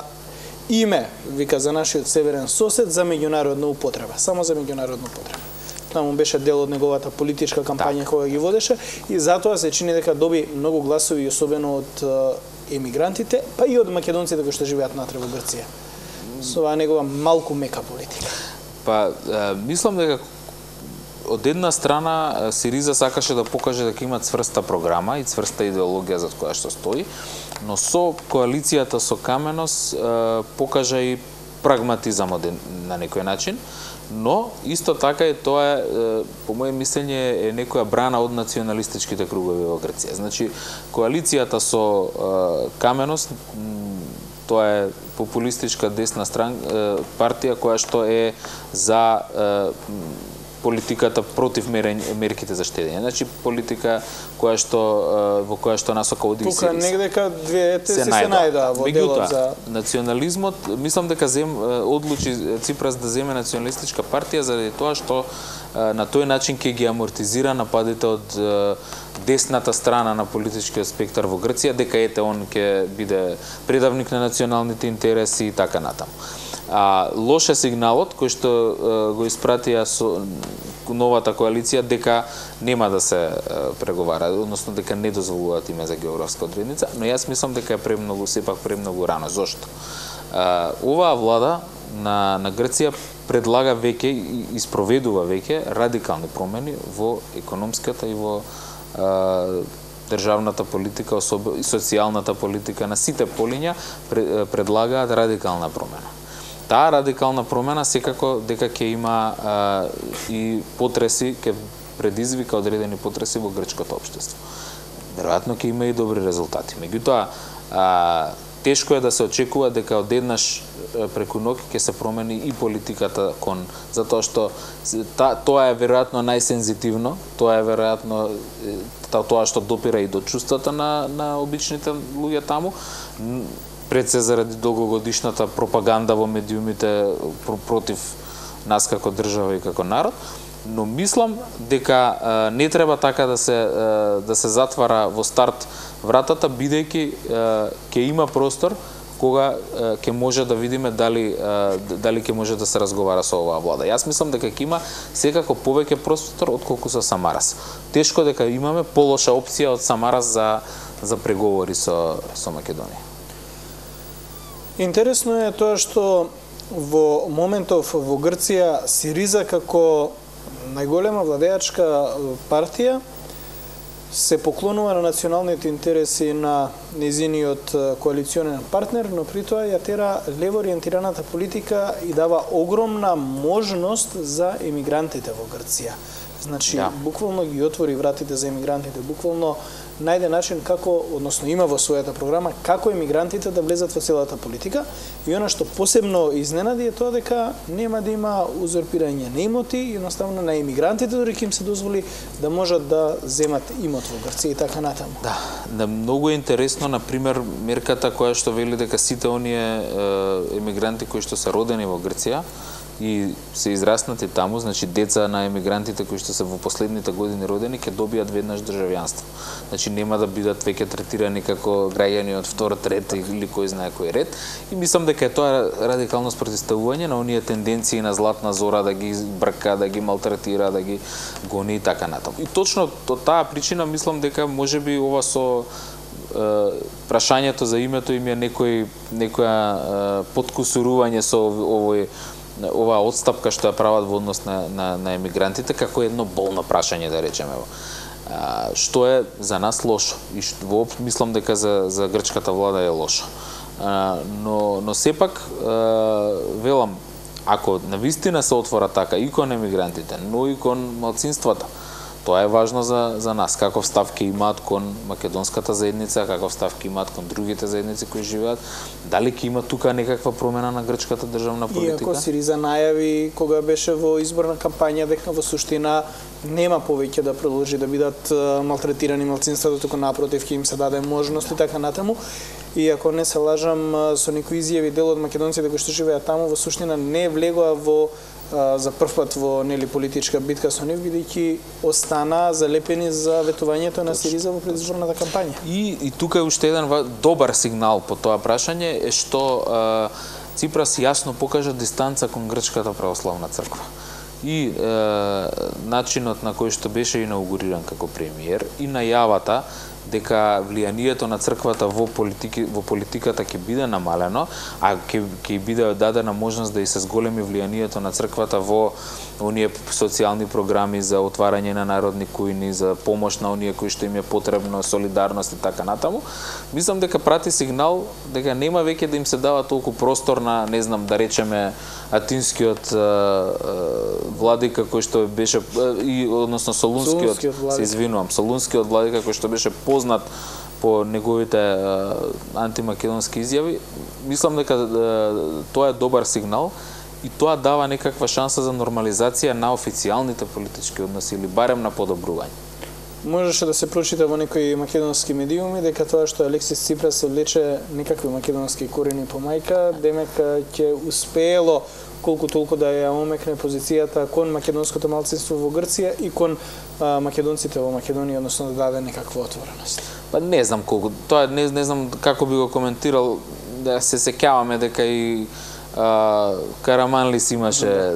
име, вика, за нашиот северен сосед за меѓународна употреба, само за меѓународна употреба. Тоа му беше дел од неговата политичка кампања која ги водеше и затоа се чини дека доби многу гласови, особено од емигрантите, па и од македонците кои што живеат натре во Грција. Со оваа негова малку мека политика. Па, е, мислам дека од една страна Сириза сакаше да покаже дека има цврста програма и цврста идеологија за која што стои, но со коалицијата со Каменос е, покажа и прагматизам на некој начин, но исто така и тоа е, по моје мислење, е некоја брана од националистичките кругови во Грција. Значи, коалицијата со е, Каменос, тоа е популистичка десна стран, е, партија која што е за е, политиката против мерките за штедење. Значи, политика која што во која што насока оди и Тука негдека двете се, се најдоа во делот за национализмот. Мислам дека зем одлучи Ципрас да земе националистичка партија заради тоа што на тој начин ќе ги амортизира нападите од десната страна на политичкиот спектар во Грција, дека ете он ќе биде предавник на националните интереси и така натаму. А лош е сигналот кој што е, го испратија со новата коалиција дека нема да се е, преговара, односно дека не дозволуваат име за географска одредница, но јас мислам дека е премногу, сепак премногу рано. Зошто? А, оваа влада на, на Грција предлага веќе и испроведува веќе радикални промени во економската и во а, државната политика, особено и социјалната политика на сите полиња предлагаат радикална промена. Таа радикална промена секако дека ќе има а, и потреси, ќе предизвика одредени потреси во грчкото општество. Веројатно ќе има и добри резултати. Меѓутоа, а, тешко е да се очекува дека одеднаш преку ноќ ќе се промени и политиката кон, затоа што та, тоа е веројатно најсензитивно, тоа е веројатно тоа што допира и до чувствата на, на обичните луѓе таму, пред се заради долгогодишната пропаганда во медиумите против нас како држава и како народ, но мислам дека а, не треба така да се а, да се затвара во старт вратата, бидејќи ќе има простор кога ќе може да видиме дали а, дали ќе може да се разговара со оваа влада. Јас мислам дека ќе има секако повеќе простор отколку со Самарас. Тешко дека имаме полоша опција од Самарас за за преговори со со Македонија. Интересно е тоа што во моментов во Грција Сириза како најголема владеачка партија се поклонува на националните интереси на незиниот коалиционен партнер, но при тоа ја тера лево ориентираната политика и дава огромна можност за емигрантите во Грција. Значи, да. Буквално ги отвори вратите за емигрантите, буквално најде начин како, односно има во својата програма, како емигрантите да влезат во целата политика. И она што посебно изненади е тоа дека нема да има узурпирање на имоти, едноставно на емигрантите дори ќе им се дозволи да можат да земат имот во Грција и така натаму. Да, да, многу е интересно, на пример, мерката која што вели дека сите оние емигранти кои што се родени во Грција и се израснати таму, значи деца на емигрантите кои што се во последните години родени, ќе добијат веднаш државјанство. Значи нема да бидат веќе третирани како граѓани од втор, трет или кој знае кој ред. И мислам дека е тоа радикално спротивставување на оние тенденции на Златна Зора да ги брка, да ги малтретира, да ги гони и така натаму. И точно од таа причина мислам дека можеби ова со прашањето за името им е некој некоја подкусурување со овој оваа отстапка што ја прават во однос на, на, на емигрантите, како едно болно прашање, да речеме. А, што е за нас лошо. И што, воопшто мислам дека за, за грчката влада е лошо. А, но, но сепак, а, велам, ако навистина се отвора така и кон емигрантите, но и кон малцинствата, тоа е важно за, за нас. Каков став ќе имаат кон македонската заедница, каков став ќе имаат кон другите заедници кои живеат, дали ќе има тука некаква промена на грчката државна политика? Иако Сириза најави кога беше во изборна кампања дека во суштина нема повеќе да продолжи да бидат малтретирани малцинствата, туку напротив ќе им се даде можност и така натаму. И ако не се лажам, со некои изјави дел од македонците кои што живеат таму во суштина не влегоа во за прв пат во нели политичка битка со нив, бидејќи остана залепени за ветувањето на Сириза во предизборната кампања. И, и тука е уште еден добар сигнал по тоа прашање е што а, Ципрас јасно покажа дистанца кон грчката православна црква. И е, начинот на кој што беше инаугуриран како премиер и најавата дека влијанието на црквата во политики во политиката ќе биде намалено, а ќе ќе биде дадена можност да и се зголеми влијанието на црквата во оние социјални програми за отварање на народни кујни, за помош на оние кои што им е потребно, солидарност и така натаму. Мислам дека прати сигнал дека нема веќе да им се дава толку простор на, не знам, да речеме атинскиот а, а, владика кој што беше и односно солунскиот, солунскиот се извинувам, солунскиот владика кој што беше познат по неговите а, антимакедонски изјави. Мислам дека а, тоа е добар сигнал и тоа дава некаква шанса за нормализација на официјалните политички односи или барем на подобрување. Можеше да се прочита во некои македонски медиуми дека тоа што Алексис Ципрас се влече некакви македонски корени по мајка, демек ќе успеело колку толку да ја омекне позицијата кон македонското малцинство во Грција и кон а, македонците во Македонија, односно да даде некаква отвореност. Па не знам колку, тоа не, не знам како би го коментирал, да се сеќаваме дека и а, Караманлис имаше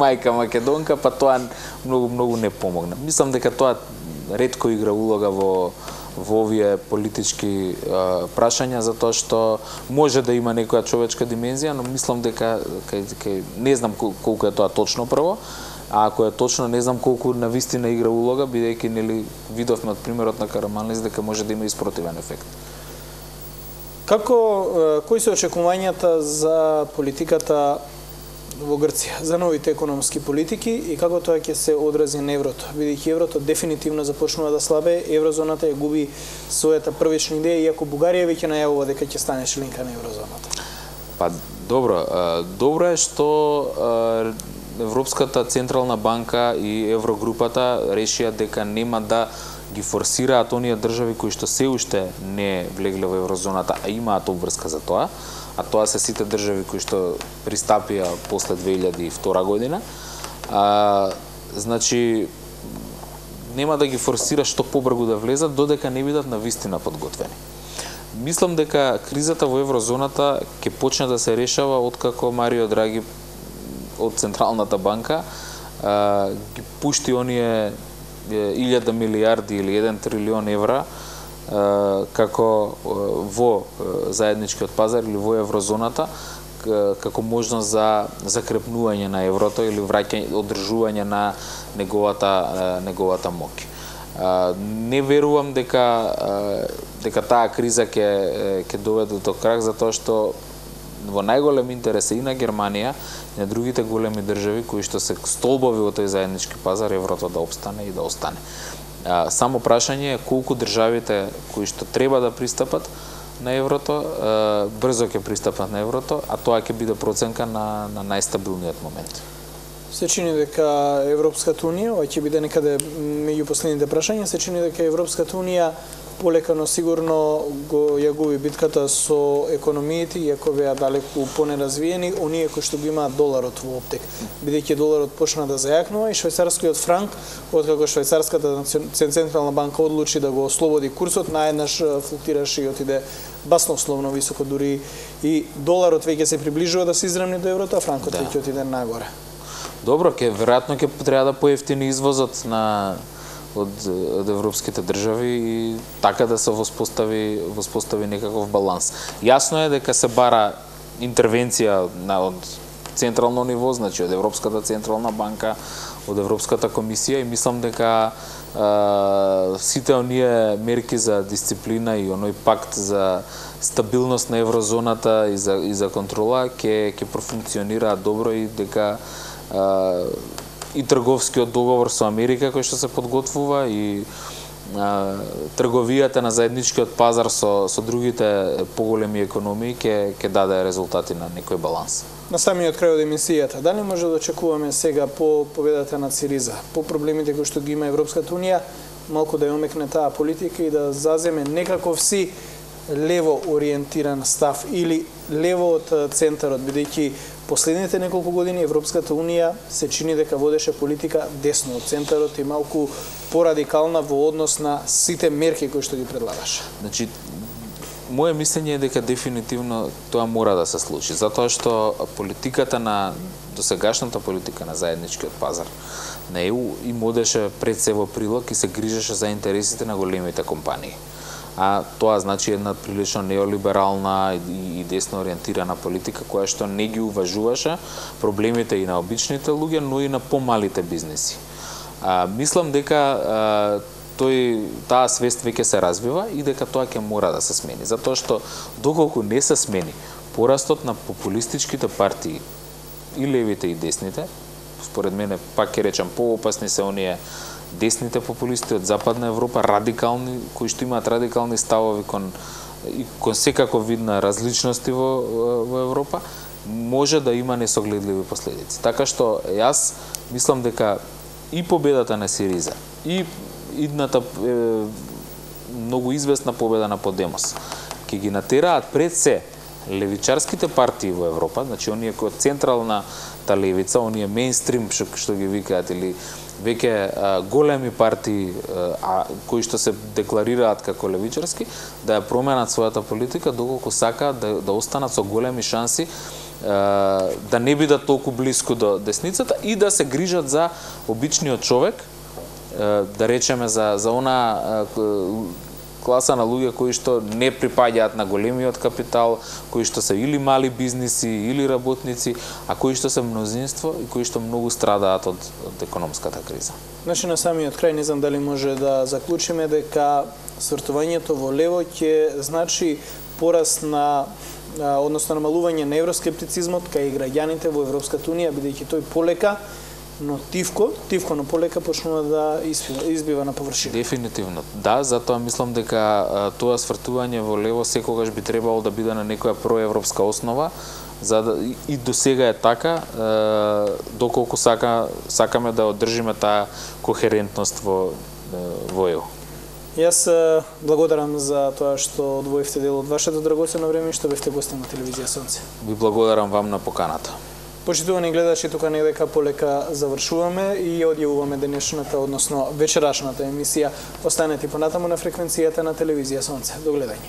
мајка македонка, па тоа многу многу не помогна. Мислам дека тоа ретко игра улога во во овие политички а, прашања, затоа што може да има некоја човечка димензија, но мислам дека кај, кај, не знам колку е тоа точно прво, а ако е точно не знам колку навистина игра улога, бидејќи нели видовме од примерот на Караманлис дека може да има и спротивен ефект. Како кои се очекувањата за политиката во Грција, за новите економски политики и како тоа ќе се одрази на еврото, бидејќи еврото дефинитивно започнува да слабе, еврозоната ја губи својата првична идеја, иако Бугарија веќе најавува дека ќе стане членка на еврозоната? Па добро, добро е што Европската централна банка и Еврогрупата решија дека нема да ги форсираат оние држави кои што се уште не влегле во еврозоната, а имаат обврска за тоа, а тоа се сите држави кои што пристапија после две илјади и втора година. А, значи, нема да ги форсира што побрзо да влезат, додека не бидат навистина подготвени. Мислам дека кризата во еврозоната ќе почне да се решава откако Марио Драги од Централната банка а, ги пушти оние илјада милијарди или еден трилион евра како во заедничкиот пазар или во еврозоната како можност за закрепнување на еврото или враќање, одржување на неговата неговата моќ. Не верувам дека дека таа криза ќе ќе доведе до крах, затоа што во најголем интерес е и на Германија и на другите големи држави кои што се столбови во тој заеднички пазар еврото да опстане и да остане. А, само прашање е колку државите кои што треба да пристапат на еврото, а, брзо ќе пристапат на еврото, а тоа ќе биде проценка на, на најстабилниот момент. Се чини дека Европската унија, ова ќе биде некаде меѓу последните прашања, се чини дека Европската унија полека, но сигурно го ја губи битката со економиите, иако беа далеку понеразвиени, оние кои што го имаат доларот во оптек. Бидејќи доларот почна да зајакнува и швајцарскиот франк, откако швајцарската централна банка одлучи да го ослободи курсот, наеднаш флуктираше и отиде баснословно високо, дури и доларот веќе се приближува да се изравни до еврото, а франкот да. веќе отиде нагоре. Добро, ке веројатно ќе треба да поевтини извозот на од, од европските држави и така да се воспостави воспостави некаков баланс. Јасно е дека се бара интервенција на од централно ниво, значи од Европската централна банка, од Европската комисија и мислам дека а, сите оние мерки за дисциплина и оној пакт за стабилност на еврозоната и за и за контрола ќе ќе профункционираат добро и дека а, и трговскиот договор со Америка кој што се подготвува и а, трговијата на заедничкиот пазар со со другите поголеми економии ќе ќе даде резултати на некој баланс. На самиот крај од емисијата, дали може да очекуваме сега по победата на СИРИЗА, по проблемите кои што ги има Европската унија, малку да ја омекне таа политика и да заземе некаков си лево ориентиран став или лево од центарот, бидејќи последните неколку години Европската унија се чини дека водеше политика десно од центарот и малку порадикална во однос на сите мерки кои што ги предлагаше. Значи, моје мислење е дека дефинитивно тоа мора да се случи, затоа што политиката на досегашната политика на заедничкиот пазар на Е У им одеше пред се во прилог и се грижеше за интересите на големите компании. А тоа значи една прилично неолиберална и десно ориентирана политика која што не ги уважуваше проблемите и на обичните луѓе, но и на помалите бизнеси. А, мислам дека а, тој таа свест веќе се развива и дека тоа ќе мора да се смени, затоа што доколку не се смени порастот на популистичките партии и левите и десните, според мене пак ќе речам поопасни се оние десните популисти од Западна Европа, радикални, кои што имаат радикални ставови кон и кон секаков вид на различности во, во Европа, може да има несогледливи последици. Така што јас мислам дека и победата на СИРИЗА и идната е, многу известна победа на Подемос ќе ги натераат пред се левичарските партии во Европа, значи оние кои од централната левица, оние мејнстрим што, што ги викаат или веќе големи партии а, кои што се декларираат како левичарски, да ја променат својата политика доколку сакаат да, да останат со големи шанси а, да не бидат толку блиску до десницата и да се грижат за обичниот човек, а, да речеме за, за она а, класа на луѓе кои што не припаѓаат на големиот капитал, кои што се или мали бизниси, или работници, а кои што се мнозинство и кои што многу страдаат од, од економската криза. Значи, на самиот крај, не знам дали може да заклучиме дека свртувањето во лево ќе значи пораст на, односно намалување на евроскептицизмот кај граѓаните во Европската унија, бидејќи тој полека, но тивко, тивко но полека почнува да избива, избива на површина. Дефинитивно. Да, затоа мислам дека а, тоа свртување во лево секогаш би требало да биде на некоја проевропска основа, за да и, и до сега е така, а, доколку сака сакаме да одржиме таа кохерентност во во Е У. Јас благодарам за тоа што одвоивте дел од вашето драгоцено време и што бевте гостин на телевизија Сонце. Ви благодарам вам на поканата. Почитувани гледачи, тука недека полека завршуваме и одјавуваме денешната, односно вечерашната емисија. Останете понатаму на фреквенцијата на телевизија Сонце. До гледање.